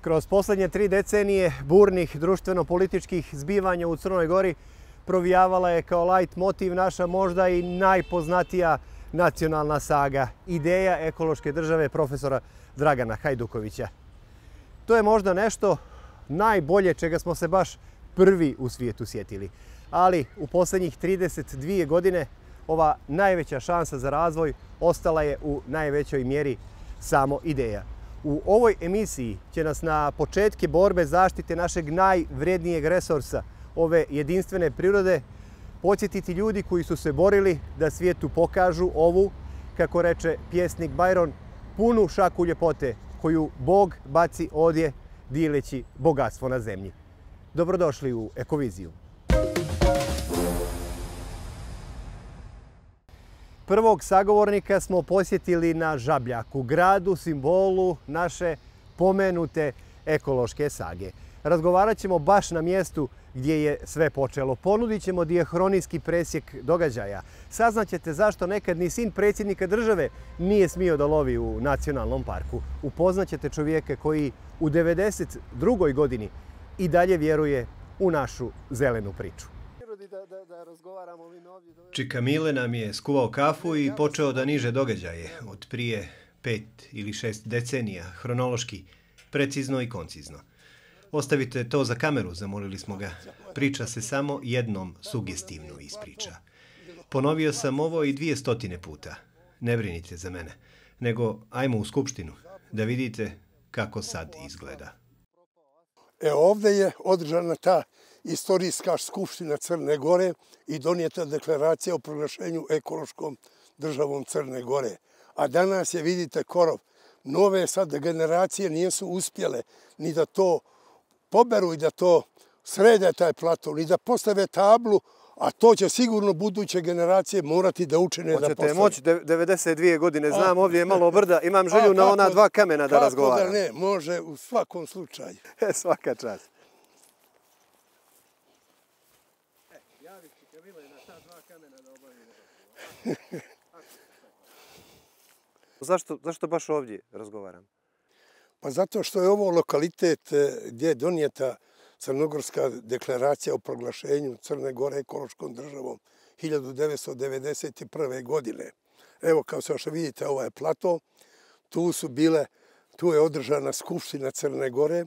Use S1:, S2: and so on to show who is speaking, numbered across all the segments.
S1: Kroz posljednje 3 decenije burnih društveno-političkih zbivanja u Crnoj Gori provijavala je kao light motiv naša možda i najpoznatija nacionalna saga, ideja ekološke države profesora Dragana Hajdukovića. To je možda nešto najbolje čega smo se baš prvi u svijetu sjetili. Ali u posljednjih 32 godine ova najveća šansa za razvoj ostala je u najvećoj mjeri samo ideja. U ovoj emisiji će nas na početke borbe zaštite našeg najvrednijeg resursa, ove jedinstvene prirode, podsjetiti ljudi koji su se borili da svijetu pokažu ovu, kako reče pjesnik Byron, punu šaku ljepote koju Bog baci odje dileći bogatstvo na zemlji. Dobrodošli u Ekoviziju. Prvog sagovornika smo posjetili na Žabljaku, gradu, simbolu naše pomenute ekološke sage. Razgovarat ćemo baš na mjestu gdje je sve počelo. Ponudit ćemo dijahronijski presjek događaja. Saznaćete zašto nekad ni sin predsjednika države nije smio da lovi u nacionalnom parku. Upoznaćete čovjeka koji u 92. godini i dalje vjeruje u našu zelenu priču. Čika Mile nam je skuvao kafu i počeo da niže događaje od prije 5 ili 6 decenija, hronološki, precizno i koncizno. Ostavite to za kameru, zamolili smo ga. Priča se samo jednom sugestivno ispriča. Ponovio sam ovo i 200 puta. Ne brinite za mene, nego ajmo u skupštinu da vidite kako sad izgleda.
S2: Ovdje je održana ta istorijska skupština Crne Gore i donijeta deklaracija o proglašenju ekološkom državom Crne Gore. A danas je, vidite, korov. Nove sad generacije nisu uspjele ni da to poberu i da to srede taj plato, ni da postave tablu, a to će sigurno buduće generacije morati da učine da postave.
S1: Hoćete moći 92 godine, znam, ovdje je malo brda, imam želju na ona 2 kamena da razgovaram.
S2: Kako da ne, može u svakom slučaju.
S1: Svaka čast. Zašto baš ovdje razgovaram?
S2: Pa zato što je ovo lokalitet gdje je donijeta Crnogorska deklaracija o proglašenju Crne Gore ekološkom državom 1991. godine. Evo, kao što vidite, ovaj plato, tu je održana skupština Crne Gore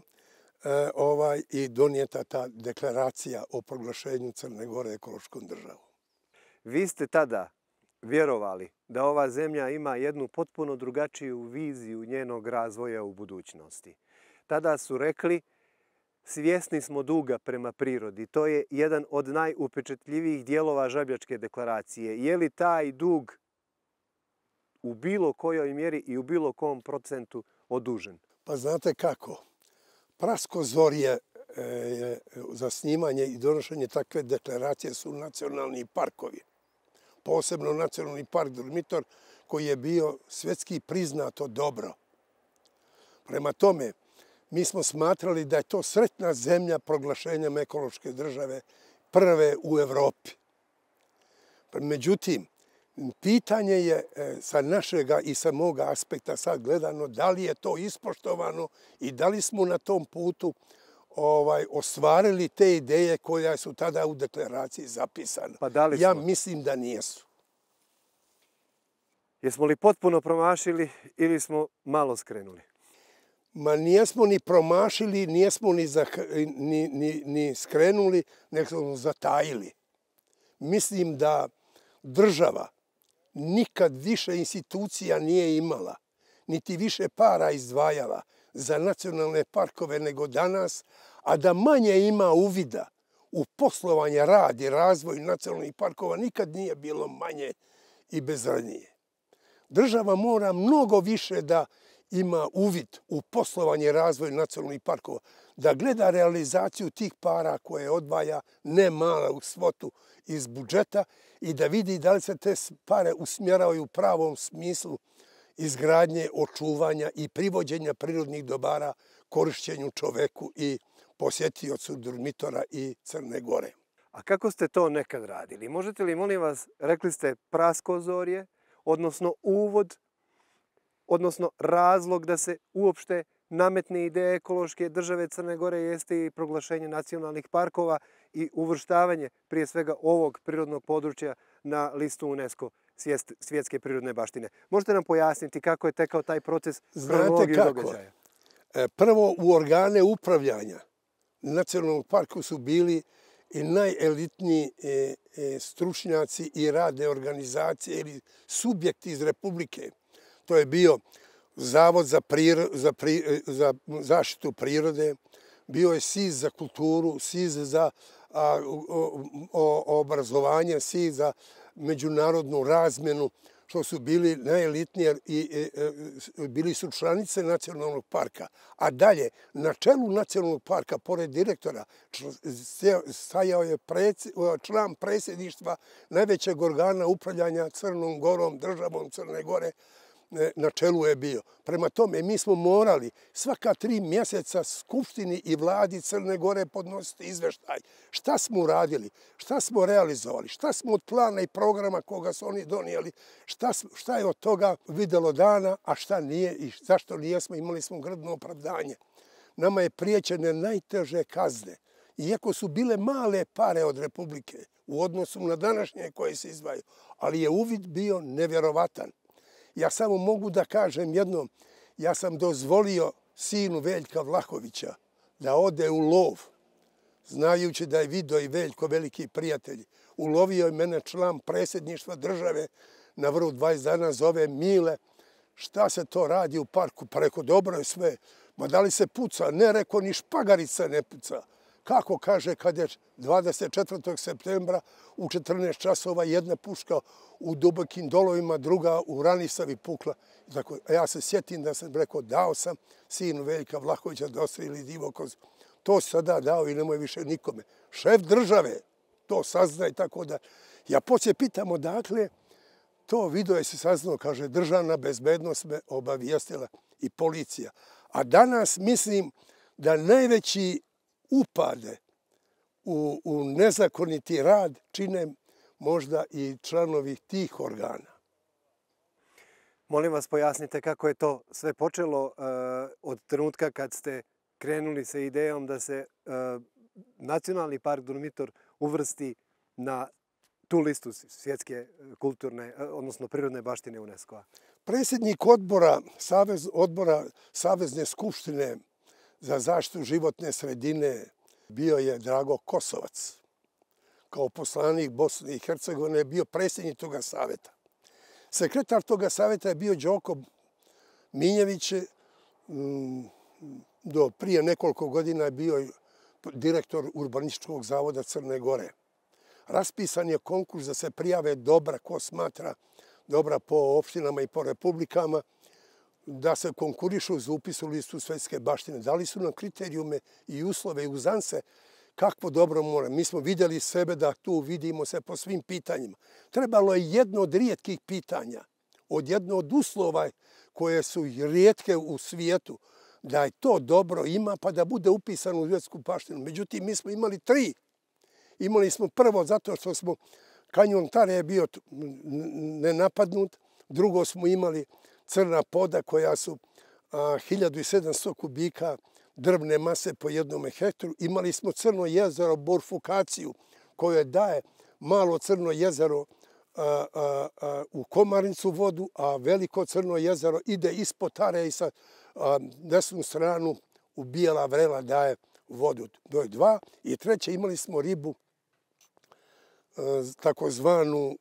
S2: i donijeta ta deklaracija o proglašenju Crne Gore ekološkom državom.
S1: Vi ste tada vjerovali da ova zemlja ima jednu potpuno drugačiju viziju njenog razvoja u budućnosti. Tada su rekli, svjesni smo duga prema prirodi. To je jedan od najupečatljivijih dijelova Žabljačke deklaracije. Je li taj dug u bilo kojoj mjeri i u bilo kom procentu odužen?
S2: Pa znate kako? Praskozorje za snimanje i donošenje takve deklaracije su nacionalni parkovi. Posebno nacionalni park Durmitor, koji je bio svjetski priznato dobro. Prema tome, mi smo smatrali da je to sretna zemlja proglašenjem ekološke države prve u Evropi. Međutim, pitanje je sa našega i sa moga aspekta sad gledano da li je to ispoštovano i da li smo na tom putu ostvarili te ideje koje su tada u deklaraciji zapisane.
S1: Pa da li smo?
S2: Ja mislim da nijesu.
S1: Jesmo li potpuno promašili ili smo malo skrenuli?
S2: Ma nijesmo ni promašili, nijesmo ni skrenuli, nego smo zatajili. Mislim da država nikad više institucija nije imala, niti više para izdvajala za nacionalne parkove nego danas, a da manje ima uvida u poslovanje, rad i razvoj nacionalnih parkova nikad nije bilo manje i bezradnije. Država mora mnogo više da ima uvid u poslovanje i razvoj nacionalnih parkova, da gleda realizaciju tih para koje odvaja ne malu svotu iz budžeta i da vidi da li se te pare usmjeravaju u pravom smislu izgradnje, očuvanja i privođenja prirodnih dobara korišćenju čoveku i posjetiocu Durmitora i Crne Gore.
S1: A kako ste to nekad radili? Možete li, molim vas, rekli ste praskozorje, odnosno uvod, odnosno razlog da se uopšte nametne ideje ekološke države Crne Gore jeste i proglašenje nacionalnih parkova i uvrštavanje prije svega ovog prirodnog područja na listu UNESCO svjetske prirodne baštine. Možete nam pojasniti kako je tekao taj proces kronologiju događaja?
S2: Prvo, u organe upravljanja nacionalnog parka su bili i najelitniji stručnjaci i radne organizacije ili subjekti iz Republike. To je bio Zavod za zaštitu prirode, bio je SIZ za kulturu, SIZ za obrazovanje, SIZ za međunarodnu razmjenu, što su bili najelitnije i bili su članice nacionalnog parka. A dalje, na čelu nacionalnog parka, pored direktora, stajao je član predsjedništva najvećeg organa upravljanja Crnom Gorom, državom Crne Gore, na čelu je bio. Prema tome, mi smo morali svaka 3 mjeseca Skupštini i vladi Crne Gore podnositi izveštaj. Šta smo uradili, šta smo realizovali, šta smo od plana i programa koga su oni donijeli, šta je od toga videlo dana, a šta nije i zašto nijesmo, imali smo grdno opravdanje. Nama je priječene najteže kazne, iako su bile male pare od Republike u odnosu na današnje koje se izdvajaju, ali je uvid bio nevjerovatan. Ja samo mogu da kažem jedno, ja sam dozvolio sinu Veljka Vlahovića da ode u lov, znajući da je Vido i Veljko veliki prijatelji. Ulovio je mene član predsjedništva države na vrhu 20 dana, zove Mile. Šta se to radi u parku? Pa rekao, dobro je sve. Ma da li se puca? Ne, rekao, ni špagarica ne puca. Kako, kaže, kad je 24. septembra u 14 časova jedna puška u dubokim dolovima, druga u Ranisavi pukla. Ja se sjetim da sam rekao, dao sam sinu Veljka Vlahovića da ostreli Divokoz. To sada dao i nemoj više nikome. Šef države to sazna i tako da. Ja poslije pitam odakle, to video je se saznao, kaže, državna bezbednost me obavijestila i policija. A danas mislim da najveći upade u nezakoniti rad čine možda i članovi tih organa.
S1: Molim vas, pojasnite kako je to sve počelo od trenutka kad ste krenuli sa idejom da se Nacionalni park Durmitor uvrsti na tu listu svjetske kulturne, odnosno prirodne baštine UNESCO-a.
S2: Predsjednik odbora Savezne skupštine za zaštitu životne sredine bio je Drago Kosovac. Kao poslanik Bosne i Hercegovine je bio predsjednik toga savjeta. Sekretar toga savjeta je bio Đoko Minjević. Do prije nekoliko godina je bio direktor Urbanističkog zavoda Crne Gore. Raspisan je konkurs da se prijave dobra, ko smatra dobra po opštinama i po republikama, da se konkurišu za upis u listu svjetske baštine. Dali su nam kriterijume i uslove i uzance kakvo dobro mora. Mi smo vidjeli sebe da tu vidimo se po svim pitanjima. Trebalo je jedno od rijetkih pitanja, jedno od uslova koje su rijetke u svijetu, da je to dobro ima pa da bude upisano u svjetsku baštinu. Međutim, mi smo imali 3. Imali smo prvo zato što smo kanjon Tare je bio nenapadnut, drugo smo imali Crna poda koja su 1700 kubika drvne mase po jednom hektaru. Imali smo Crno jezero, borfukaciju koje daje malo Crno jezero u Komarnicu vodu, a veliko Crno jezero ide ispod Tare i sa desnu stranu u Bijela Vrela daje vodu. To je 2. I 3. imali smo ribu, takozvanu,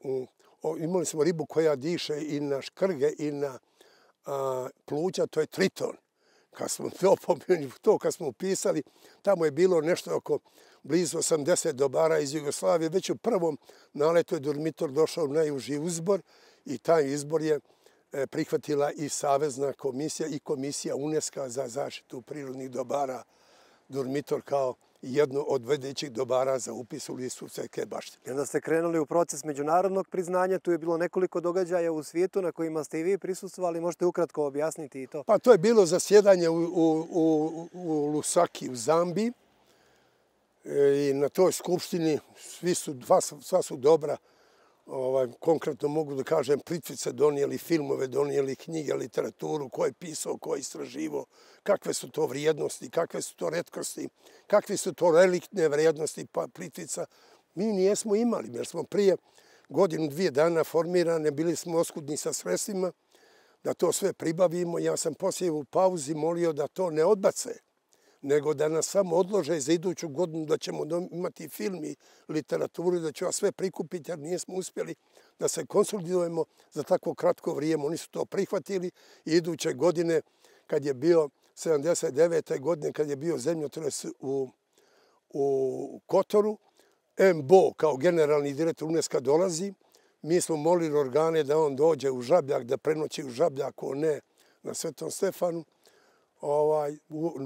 S2: imali smo ribu koja diše i na škrge i na pluća, to je triton. Kad smo upisali, tamo je bilo nešto oko blizu 80 dobara iz Jugoslavije. Već u prvom naletu je Durmitor došao najuži izbor i taj izbor je prihvatila i Savezna komisija i Komisija UNESCO za zaštitu prirodnih dobara Durmitor kao jedno od vodećih dobara za upis u listu svjetske baštine.
S1: I onda ste krenuli u proces međunarodnog priznanja. Tu je bilo nekoliko događaja u svijetu na kojima ste i vi prisustvovali. Možete ukratko objasniti i to?
S2: Pa to je bilo zasjedanje u Lusaki u Zambiji. I na toj skupštini sva su dobra konkretno mogu da kažem, Plitvice donijeli filmove, donijeli knjige, literaturu, ko je pisao, ko je istraživo, kakve su to vrijednosti, kakve su to retkosti, kakve su to reliktne vrijednosti Plitvica. Mi nijesmo imali, jer smo prije godinu, 2 dana formirane, bili smo oskudni sa sredstvima, da to sve pribavimo. Ja sam poslije u pauzi molio da to ne odbace, nego da nas samo odlože za iduću godinu, da ćemo imati film i literaturu, da ću sve prikupiti, jer nismo uspjeli da se konsolidujemo za tako kratko vrijeme. Oni su to prihvatili i iduće godine, kad je bio 79. godine, kad je bio zemljotres u Kotoru, MBO kao generalni direktor UNESCO dolazi. Mi smo molili organe da on dođe u Žabljak, da prenoći u Žabljaku, ne na Svetom Stefanu.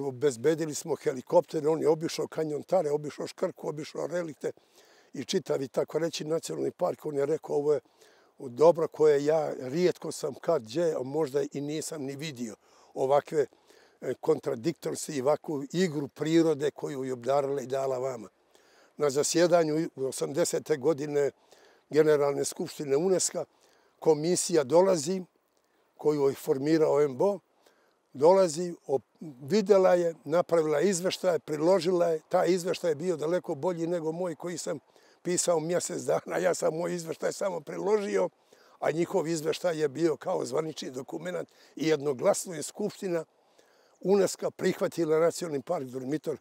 S2: Obezbedili smo helikopter, on je obišao kanjon Tare, obišao Škrku, obišao Relikte i čitavi, tako reći, nacionalni park. On je rekao, ovo je dobro koje ja rijetko sam kad gdje, a možda i nisam ni vidio ovakve kontradiktornosti i ovakvu igru prirode koju je obdarila i dala vama. Na zasjedanju 80. godine Generalne skupštine UNESCO komisija dolazi, koju je formirao MBO, dolazi, vidjela je, napravila izveštaj, priložila je. Taj izveštaj je bio daleko bolji nego moj koji sam pisao mjesec dana. Ja sam moj izveštaj samo priložio, a njihov izveštaj je bio kao zvanični dokument i jednoglasno je Skupština UNESCO prihvatila Nacionalni park Durmitor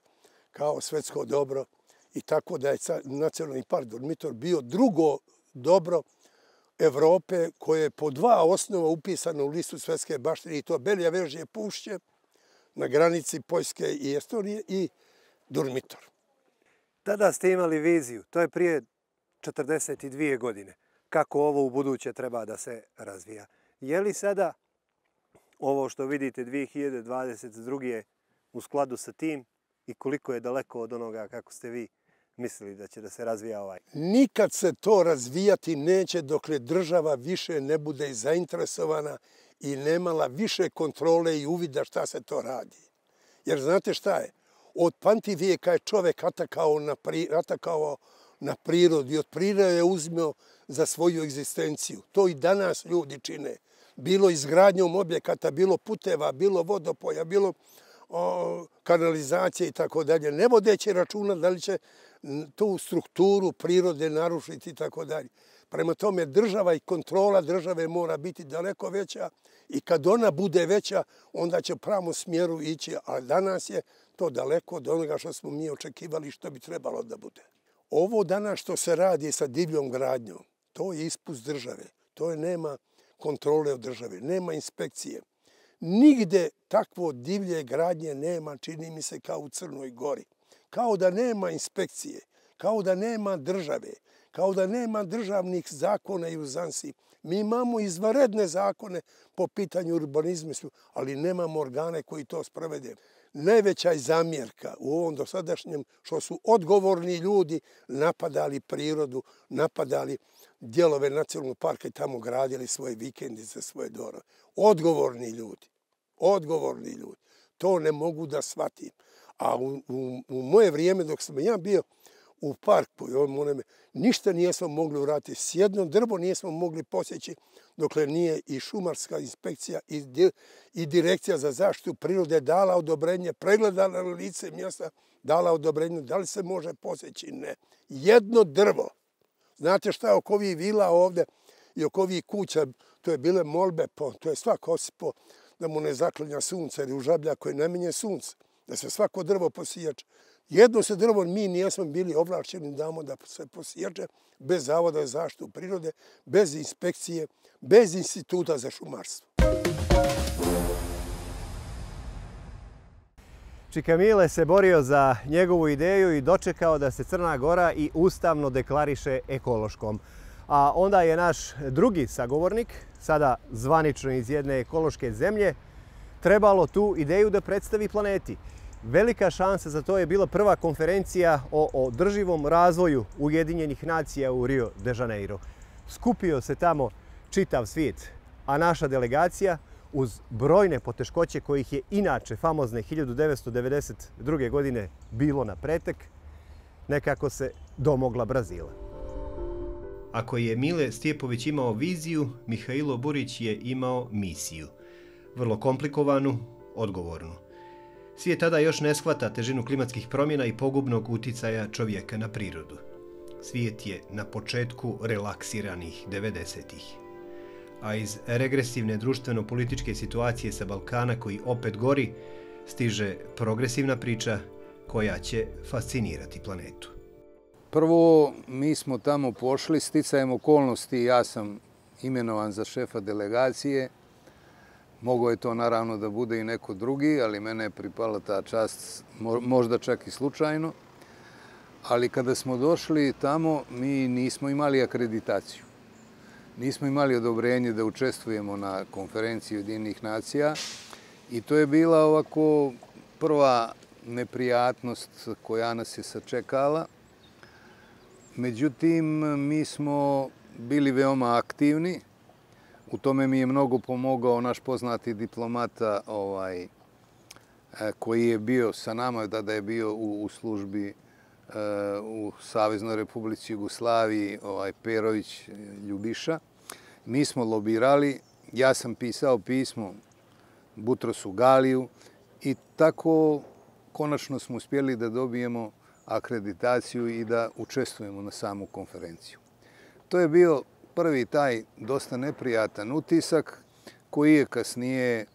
S2: kao svetsko dobro i tako da je Nacionalni park Durmitor bio drugo dobro Evrope koje je po 2 osnova upisano u listu svetske baštine i to Belje Vežje pušće na granici Poljske i Estonije i Durmitor.
S1: Tada ste imali viziju, to je prije 42 godine, kako ovo u buduće treba da se razvija. Je li sada ovo što vidite 2022. u skladu sa tim i koliko je daleko od onoga kako ste vi mislili da će da se razvija ovaj?
S2: Nikad se to razvijati neće dokle država više ne bude zainteresovana i nemala više kontrole i uvida šta se to radi. Jer znate šta je? Od pamtivijeka je čovek atakao na prirodu i od prirode je uzmeo za svoju egzistenciju. To i danas ljudi čine. Bilo izgradnjom objekata, bilo puteva, bilo vodopoja, bilo kanalizacije i tako dalje. Ne vodeći računa da li će tu strukturu prirode narušiti i tako dalje. Prema tome, država i kontrola države mora biti daleko veća i kad ona bude veća, onda će u pravom smjeru ići, a danas je to daleko od onoga što smo mi očekivali što bi trebalo da bude. Ovo danas što se radi sa divljom gradnjom, to je ispust države. To je nema kontrole od države, nema inspekcije. Nigde takvo divlje gradnje nema, čini mi se, kao u Crnoj Gori. Kao da nema inspekcije, kao da nema države, kao da nema državnih zakona i uzansi. Mi imamo izvanredne zakone po pitanju urbanizma, ali nemamo organe koji to sprovede. Najveća je zamjerka u ovom dosadašnjem što su odgovorni ljudi napadali prirodu, napadali dijelove nacionalnog parka i tamo gradili svoje vikendice, svoje dorove. Odgovorni ljudi. To ne mogu da shvatim. A u moje vrijeme dok sam ja bio u parku, ništa nijesmo mogli uraditi. S jedno drvo nijesmo mogli posjeći dokle nije i šumarska inspekcija i direkcija za zaštitu prirode dala odobrenje, pregledala na lice mjesta, dala odobrenje da li se može posjeći. Ne. Jedno drvo. Znate šta je oko ovih vila ovdje i oko ovih kuća, to je bile molbe, to je svako osipao da mu ne zaklinja sunce, jer u Žabljaku je namenjen sunce, da se svako drvo posiječe. Jedno se drvo mi nijesmo bili ovlašćeni damo da se posiječe bez Zavoda za zaštitu prirode, bez inspekcije, bez instituta za šumarstvo.
S1: Čika Mile se borio za njegovu ideju i dočekao da se Crna Gora i ustavno deklariše ekološkom. A onda je naš drugi sagovornik, sada zvanično iz jedne ekološke zemlje, trebalo tu ideju da predstavi planeti. Velika šansa za to je bila prva konferencija o održivom razvoju Ujedinjenih nacija u Rio de Janeiro. Skupio se tamo čitav svijet, a naša delegacija, uz brojne poteškoće kojih je inače famozne 1992. godine bilo na pretek, nekako se domogla Brazila. Ako je Mile Stjepović imao viziju, Mihailo Burić je imao misiju. Vrlo komplikovanu, odgovornu. Svijet tada još ne shvata težinu klimatskih promjena i pogubnog uticaja čovjeka na prirodu. Svijet je na početku relaksiranih 90-ih. A iz regresivne društveno-političke situacije sa Balkana koji opet gori, stiže progresivna priča koja će fascinirati planetu.
S3: Prvo, mi smo tamo pošli, sticajem okolnosti, ja sam imenovan za šefa delegacije. Mogao je to naravno da bude i neko drugi, ali mene je pripala ta čast, možda čak i slučajno. Ali kada smo došli tamo, mi nismo imali akreditaciju. Nismo imali odobrenje da učestvujemo na konferenciji Ujedinjenih nacija i to je bila ovako prva neprijatnost koja nas je sačekala. Međutim, mi smo bili veoma aktivni. U tome mi je mnogo pomogao naš poznati diplomata koji je bio sa nama, tada je bio u službi u Saveznoj Republici Jugoslaviji, Perović Ljubiša. Mi smo lobirali, ja sam pisao pismo Butrosu Galiju i tako konačno smo uspjeli da dobijemo akreditaciju i da učestvujemo na samu konferenciju. To je bio prvi taj dosta neprijatan utisak koji je kasnije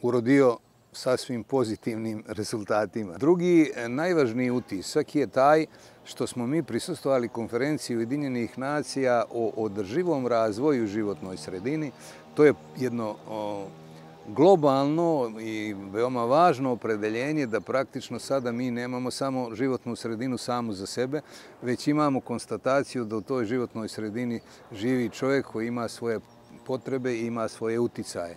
S3: urodio sasvim pozitivnim rezultatima. Drugi, najvažniji utisak je taj što smo mi prisustvovali konferenciji Ujedinjenih nacija o održivom razvoju u životnoj sredini. To je jedno globalno i veoma važno opredeljenje da praktično sada mi nemamo samo životnu sredinu samu za sebe, već imamo konstataciju da u toj životnoj sredini živi čovjek koji ima svoje potrebe i ima svoje uticaje.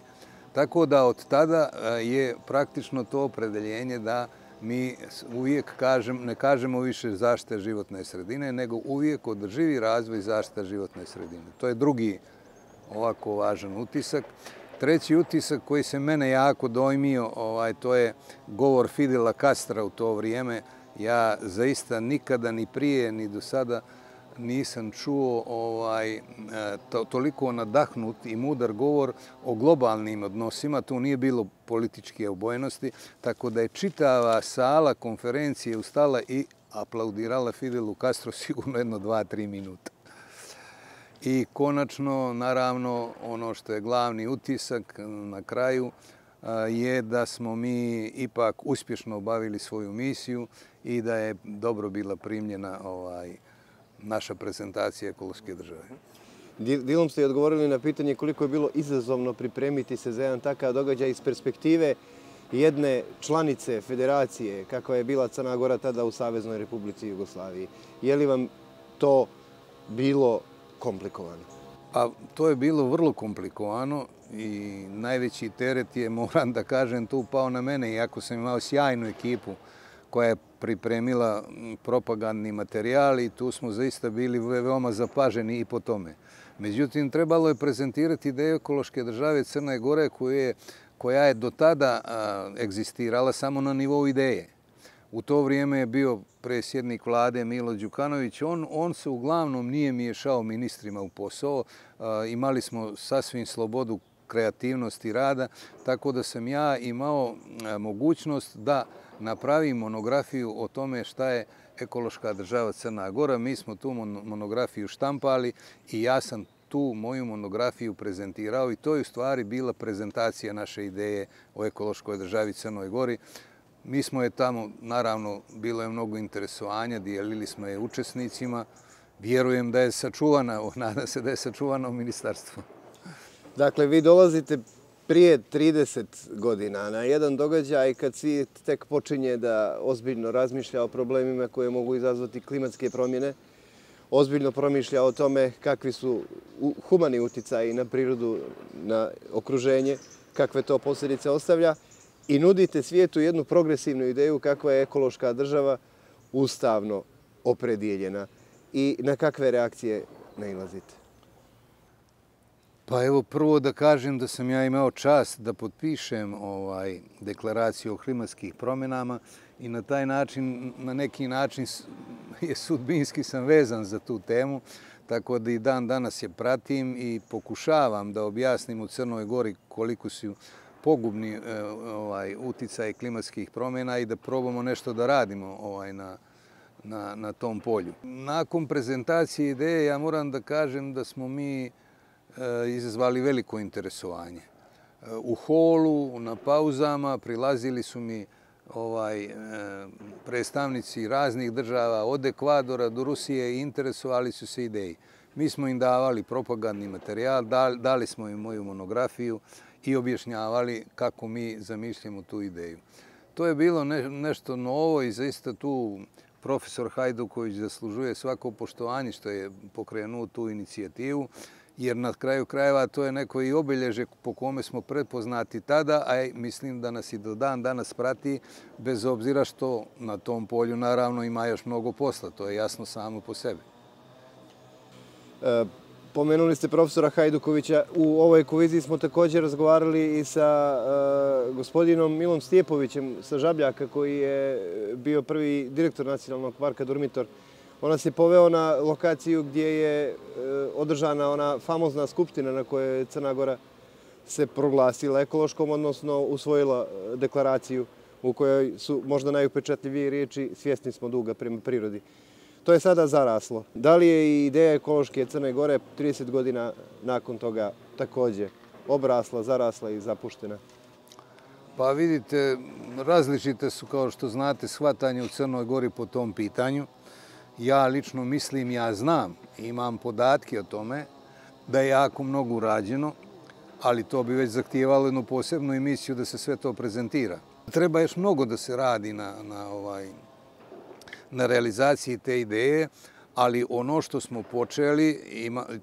S3: Tako da od tada je praktično to opredeljenje da mi uvijek ne kažemo više zaštita životne sredine, nego uvijek održivi razvoj i zaštita životne sredine. To je drugi ovako važan utisak. Treći utisak koji se mene jako dojmio, to je govor Fidela Castra u to vrijeme. Ja zaista nikada ni prije ni do sada nisam čuo toliko nadahnut i mudar govor o globalnim odnosima. Tu nije bilo političke obojenosti, tako da je čitava sala konferencije ustala i aplaudirala Fidelu Castro sigurno jedno 2-3 minuta. I konačno, naravno, ono što je glavni utisak na kraju je da smo mi ipak uspješno obavili svoju misiju i da je dobro bila primljena naša prezentacija ekološke države.
S1: Dilom ste i odgovorili na pitanje koliko je bilo izazovno pripremiti se za jedan takav događaj iz perspektive jedne članice federacije, kakva je bila Crna Gora tada u Saveznoj Republici Jugoslaviji. Je li vam to bilo komplikovano?
S3: Pa to je bilo vrlo komplikovano i najveći teret je, moram da kažem, tu pao na mene, iako sam imao sjajnu ekipu koja je pripremila propagandni materijal i tu smo zaista bili veoma zapaženi i po tome. Međutim, trebalo je prezentirati ideju ekološke države Crne Gore koja je do tada egzistirala samo na nivou ideje. U to vrijeme je bio predsjednik vlade Milo Đukanović. On se uglavnom nije miješao ministrima u posao. Imali smo sasvim slobodu kreativnosti rada, tako da sam ja imao mogućnost da napravim monografiju o tome šta je ekološka država Crna Gora. Mi smo tu monografiju štampali i ja sam tu moju monografiju prezentirao i to je u stvari bila prezentacija naše ideje o ekološkoj državi Crnoj Gori. Mi smo je tamo, naravno, bilo je mnogo interesovanja, dijelili smo je učesnicima. Vjerujem da je sačuvana, nadam se da je sačuvana u ministarstvu.
S1: Dakle, vi dolazite prije 30 godina na jedan događaj kad svijet tek počinje da ozbiljno razmišlja o problemima koje mogu izazvati klimatske promjene, ozbiljno promišlja o tome kakvi su humani uticaji na prirodu, na okruženje, kakve to posljedice ostavlja i nudite svijetu jednu progresivnu ideju kakva je ekološka država ustavno opredijeljena. I na kakve reakcije nailazite?
S3: Pa evo, prvo da kažem da sam ja imao čast da potpišem deklaraciju o klimatskih promjenama i na taj način, na neki način je sudbinski sam vezan za tu temu, tako da i dan danas je pratim i pokušavam da objasnim u Crnoj Gori koliko su pogubni uticaj klimatskih promjena i da probamo nešto da radimo na tom polju. Nakon prezentacije ideje ja moram da kažem da smo mi izazvali veliko interesovanje. U holu, na pauzama prilazili su mi predstavnici raznih država od Ekvadora do Rusije i interesovali su se ideji. Mi smo im davali propagandni materijal, dali smo im moju monografiju i objašnjavali kako mi zamišljamo tu ideju. To je bilo nešto novo i zaista tu profesor Hajduković zaslužuje svako poštovanje što je pokrenuo tu inicijativu, jer na kraju krajeva to je neko i obilježje po kome smo prepoznati tada, a mislim da nas i do dan danas prati, bez obzira što na tom polju naravno ima još mnogo posla, to je jasno samo po sebi.
S1: Pomenuli ste profesora Hajdukovića. U ovoj ekoviziji smo također razgovarali i sa gospodinom Milom Stjepovićem sa Žabljaka, koji je bio prvi direktor Nacionalnog parka Durmitor. On nas je poveo na lokaciju gdje je održana ona famozna skupština na kojoj je Crna Gora se proglasila ekološkom, odnosno usvojila deklaraciju u kojoj su možda najupečatljivije riječi "svjesni smo duga prema prirodi". To je sada zaraslo. Da li je i ideja ekološke Crne Gore 30 godina nakon toga također obrasla, zarasla i zapuštena?
S3: Pa vidite, različite su, kao što znate, shvatanje u Crnoj Gori po tom pitanju. Ja lično mislim, ja znam, imam podatke o tome da je jako mnogo urađeno, ali to bi već zahtijevalo jednu posebnu emisiju da se sve to prezentira. Treba još mnogo da se radi na realizaciji te ideje, ali ono što smo počeli,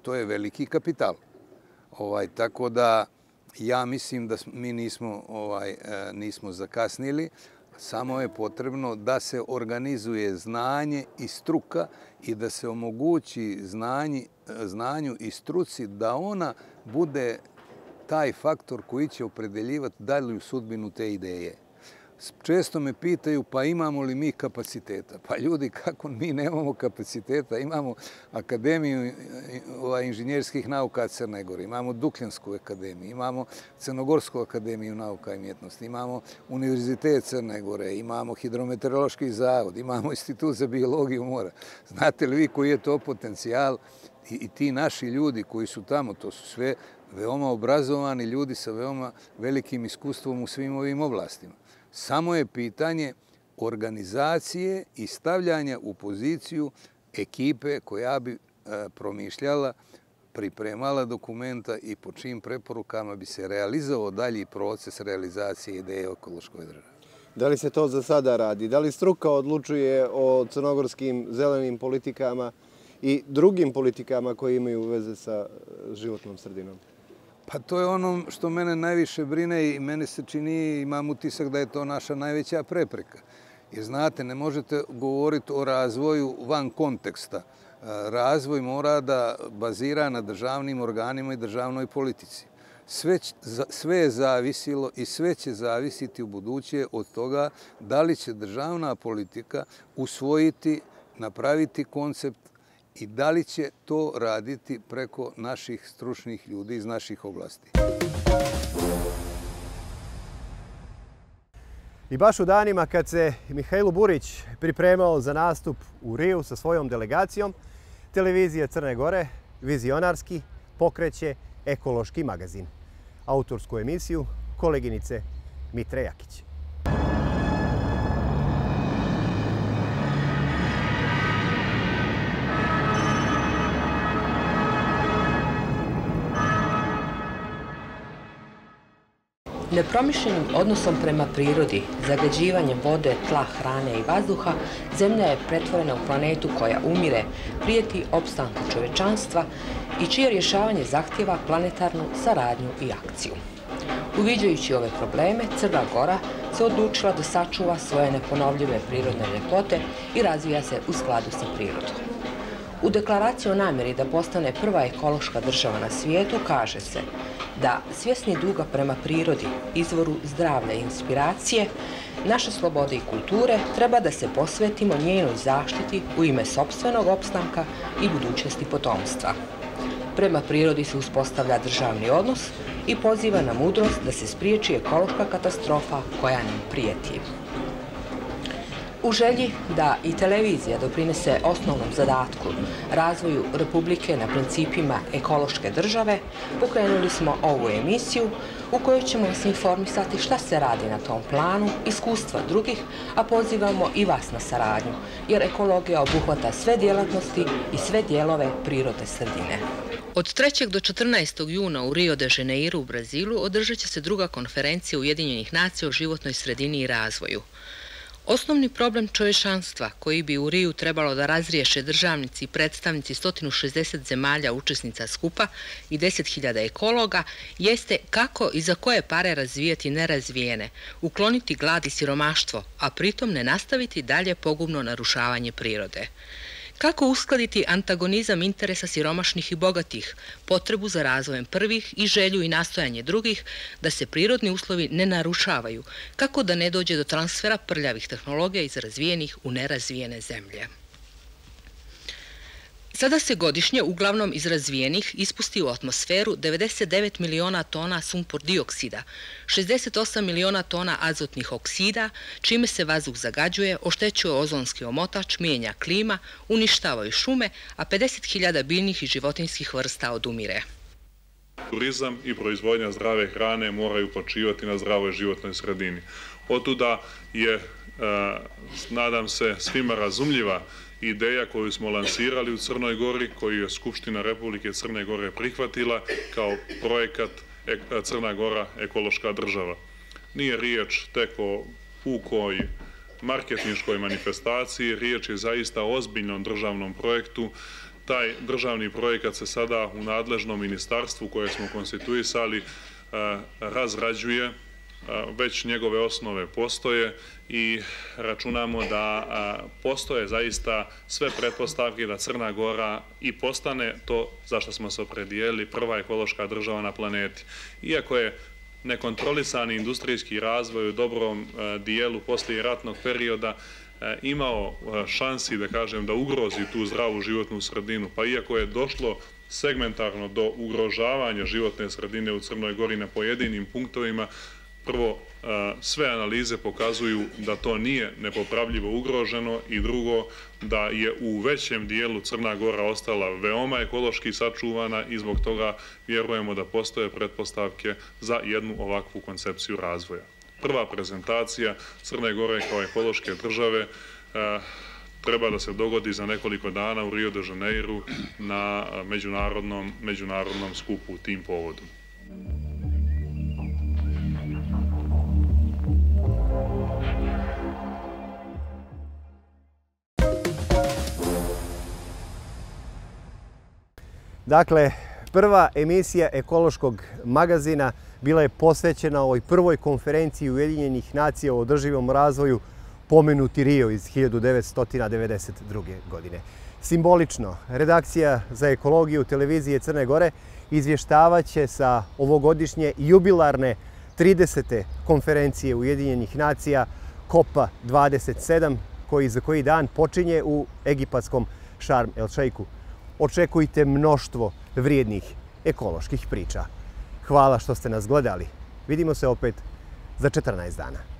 S3: to je veliki kapital. Tako da ja mislim da mi nismo zakasnili, samo je potrebno da se organizuje znanje i struka i da se omogući znanju i struci da ona bude taj faktor koji će opredeljivati dalju sudbinu te ideje. Često me pitaju, pa imamo li mi kapaciteta? Pa ljudi, kako mi nemamo kapaciteta? Imamo Akademiju inženjerskih nauka Crne Gore, imamo Dukljansku akademiju, imamo Crnogorsku akademiju nauka i umjetnosti, imamo Univerzitet Crne Gore, imamo Hidrometeorološki zavod, imamo Institut za biologiju mora. Znate li vi koji je to potencijal? I ti naši ljudi koji su tamo, to su sve veoma obrazovani ljudi sa veoma velikim iskustvom u svim ovim oblastima. Samo je pitanje organizacije i stavljanja u poziciju ekipe koja bi promišljala, pripremala dokumenta i po čijim preporukama bi se realizovao dalji proces realizacije ideje o ekološkoj državi.
S1: Da li se to za sada radi? Da li struka odlučuje o crnogorskim zelenim politikama i drugim politikama koje imaju veze sa životnom sredinom?
S3: Pa to je ono što mene najviše brine i meni se čini, imam utisak da je to naša najveća prepreka. Jer znate, ne možete govoriti o razvoju van konteksta. Razvoj mora da bazira na državnim organima i državnoj politici. Sve je zavisilo i sve će zavisiti u buduće od toga da li će državna politika usvojiti, napraviti koncept i da li će to raditi preko naših stručnih ljudi iz naših oblasti.
S1: I baš u danima kad se Mihajlo Burić pripremao za nastup u Riju sa svojom delegacijom, televizija Crne Gore vizionarski pokreće ekološki magazin. Autorsku emisiju koleginice Mitre Jakić.
S4: Nepromišljenim odnosom prema prirodi, zagađivanjem vode, tla, hrane i vazduha, Zemlja je pretvorena u planetu koja umire, prijeti opstanku čovečanstva i čije rješavanje zahtjeva planetarnu saradnju i akciju. Uviđajući ove probleme, Crna Gora se odlučila da sačuva svoje neponovljive prirodne ljepote i razvija se u skladu sa prirodom. U deklaraciji o namjeri da postane prva ekološka država na svijetu kaže se da svjesni duga prema prirodi, izvoru zdravlja i inspiracije, naše slobode i kulture treba da se posvetimo njenoj zaštiti u ime sopstvenog opstanka i budućnosti potomstva. Prema prirodi se uspostavlja državni odnos i poziva na mudrost da se spriječi ekološka katastrofa koja nam prijeti. U želji da i televizija doprinese osnovnom zadatku razvoju Republike na principima ekološke države, pokrenuli smo ovu emisiju u kojoj ćemo vas informisati šta se radi na tom planu, iskustva drugih, a pozivamo i vas na saradnju, jer ekologija obuhvata sve djelatnosti i sve dijelove prirodne sredine. Od 3. do 14. juna u Rio de Janeiru u Brazilu održat će se druga konferencija Ujedinjenih nacija o životnoj sredini i razvoju. Osnovni problem čovječanstva koji bi u Riju trebalo da razriješe državnici i predstavnici 160 zemalja učesnica skupa i 10.000 ekologa jeste kako i za koje pare razvijati nerazvijene, ukloniti glad i siromaštvo, a pritom ne nastaviti dalje pogubno narušavanje prirode. Kako uskladiti antagonizam interesa siromašnih i bogatih, potrebu za razvojem prvih i želju i nastojanje drugih da se prirodni uslovi ne narušavaju, kako da ne dođe do transfera prljavih tehnologija iz razvijenih u nerazvijene zemlje. Sada se godišnje, uglavnom iz razvijenih, ispusti u atmosferu 99 miliona tona sumpor dioksida, 68 miliona tona azotnih oksida, čime se vazduh zagađuje, oštećuje ozonski omotač, mijenja klima, uništavaju šume, a 50.000 biljnih i životinjskih vrsta odumire.
S5: Turizam i proizvodnja zdrave hrane moraju počivati na zdravoj životnoj sredini. Otuda je, nadam se, svima razumljiva ideja koju smo lansirali u Crnoj Gori, koju je Skupština Republike Crne Gore prihvatila kao projekat Crna Gora ekološka država. Nije riječ tek o pukoj marketinškoj manifestaciji, riječ je zaista o ozbiljnom državnom projektu. Taj državni projekat se sada u nadležnom ministarstvu koje smo konstituisali razrađuje, već njegove osnove postoje i računamo da postoje zaista sve pretpostavke da Crna Gora i postane to za što smo se opredijelili, prva ekološka država na planeti. Iako je nekontrolisani industrijski razvoj u dobrom dijelu poslijeratnog perioda imao šansi, da kažem, da ugrozi tu zdravu životnu sredinu, pa iako je došlo segmentarno do ugrožavanja životne sredine u Crnoj Gori na pojedinim punktovima, prvo, sve analize pokazuju da to nije nepopravljivo ugroženo i drugo, da je u većem dijelu Crna Gora ostala veoma ekološki sačuvana i zbog toga vjerujemo da postoje pretpostavke za jednu ovakvu koncepciju razvoja. Prva prezentacija Crne Gore kao ekološke države treba da se dogodi za nekoliko dana u Rio de Janeiru na međunarodnom skupu tim povodom.
S1: Dakle, prva emisija ekološkog magazina bila je posvećena ovoj prvoj konferenciji Ujedinjenih nacija o održivom razvoju, pomenuti Rio iz 1992. godine. Simbolično, redakcija za ekologiju televizije Crne Gore izvještavaće sa ovogodišnje jubilarne 30. konferencije Ujedinjenih nacija COP 27, koji za koji dan počinje u egipatskom Šarm el Šeiku. Očekujte mnoštvo vrijednih ekoloških priča. Hvala što ste nas gledali. Vidimo se opet za 14 dana.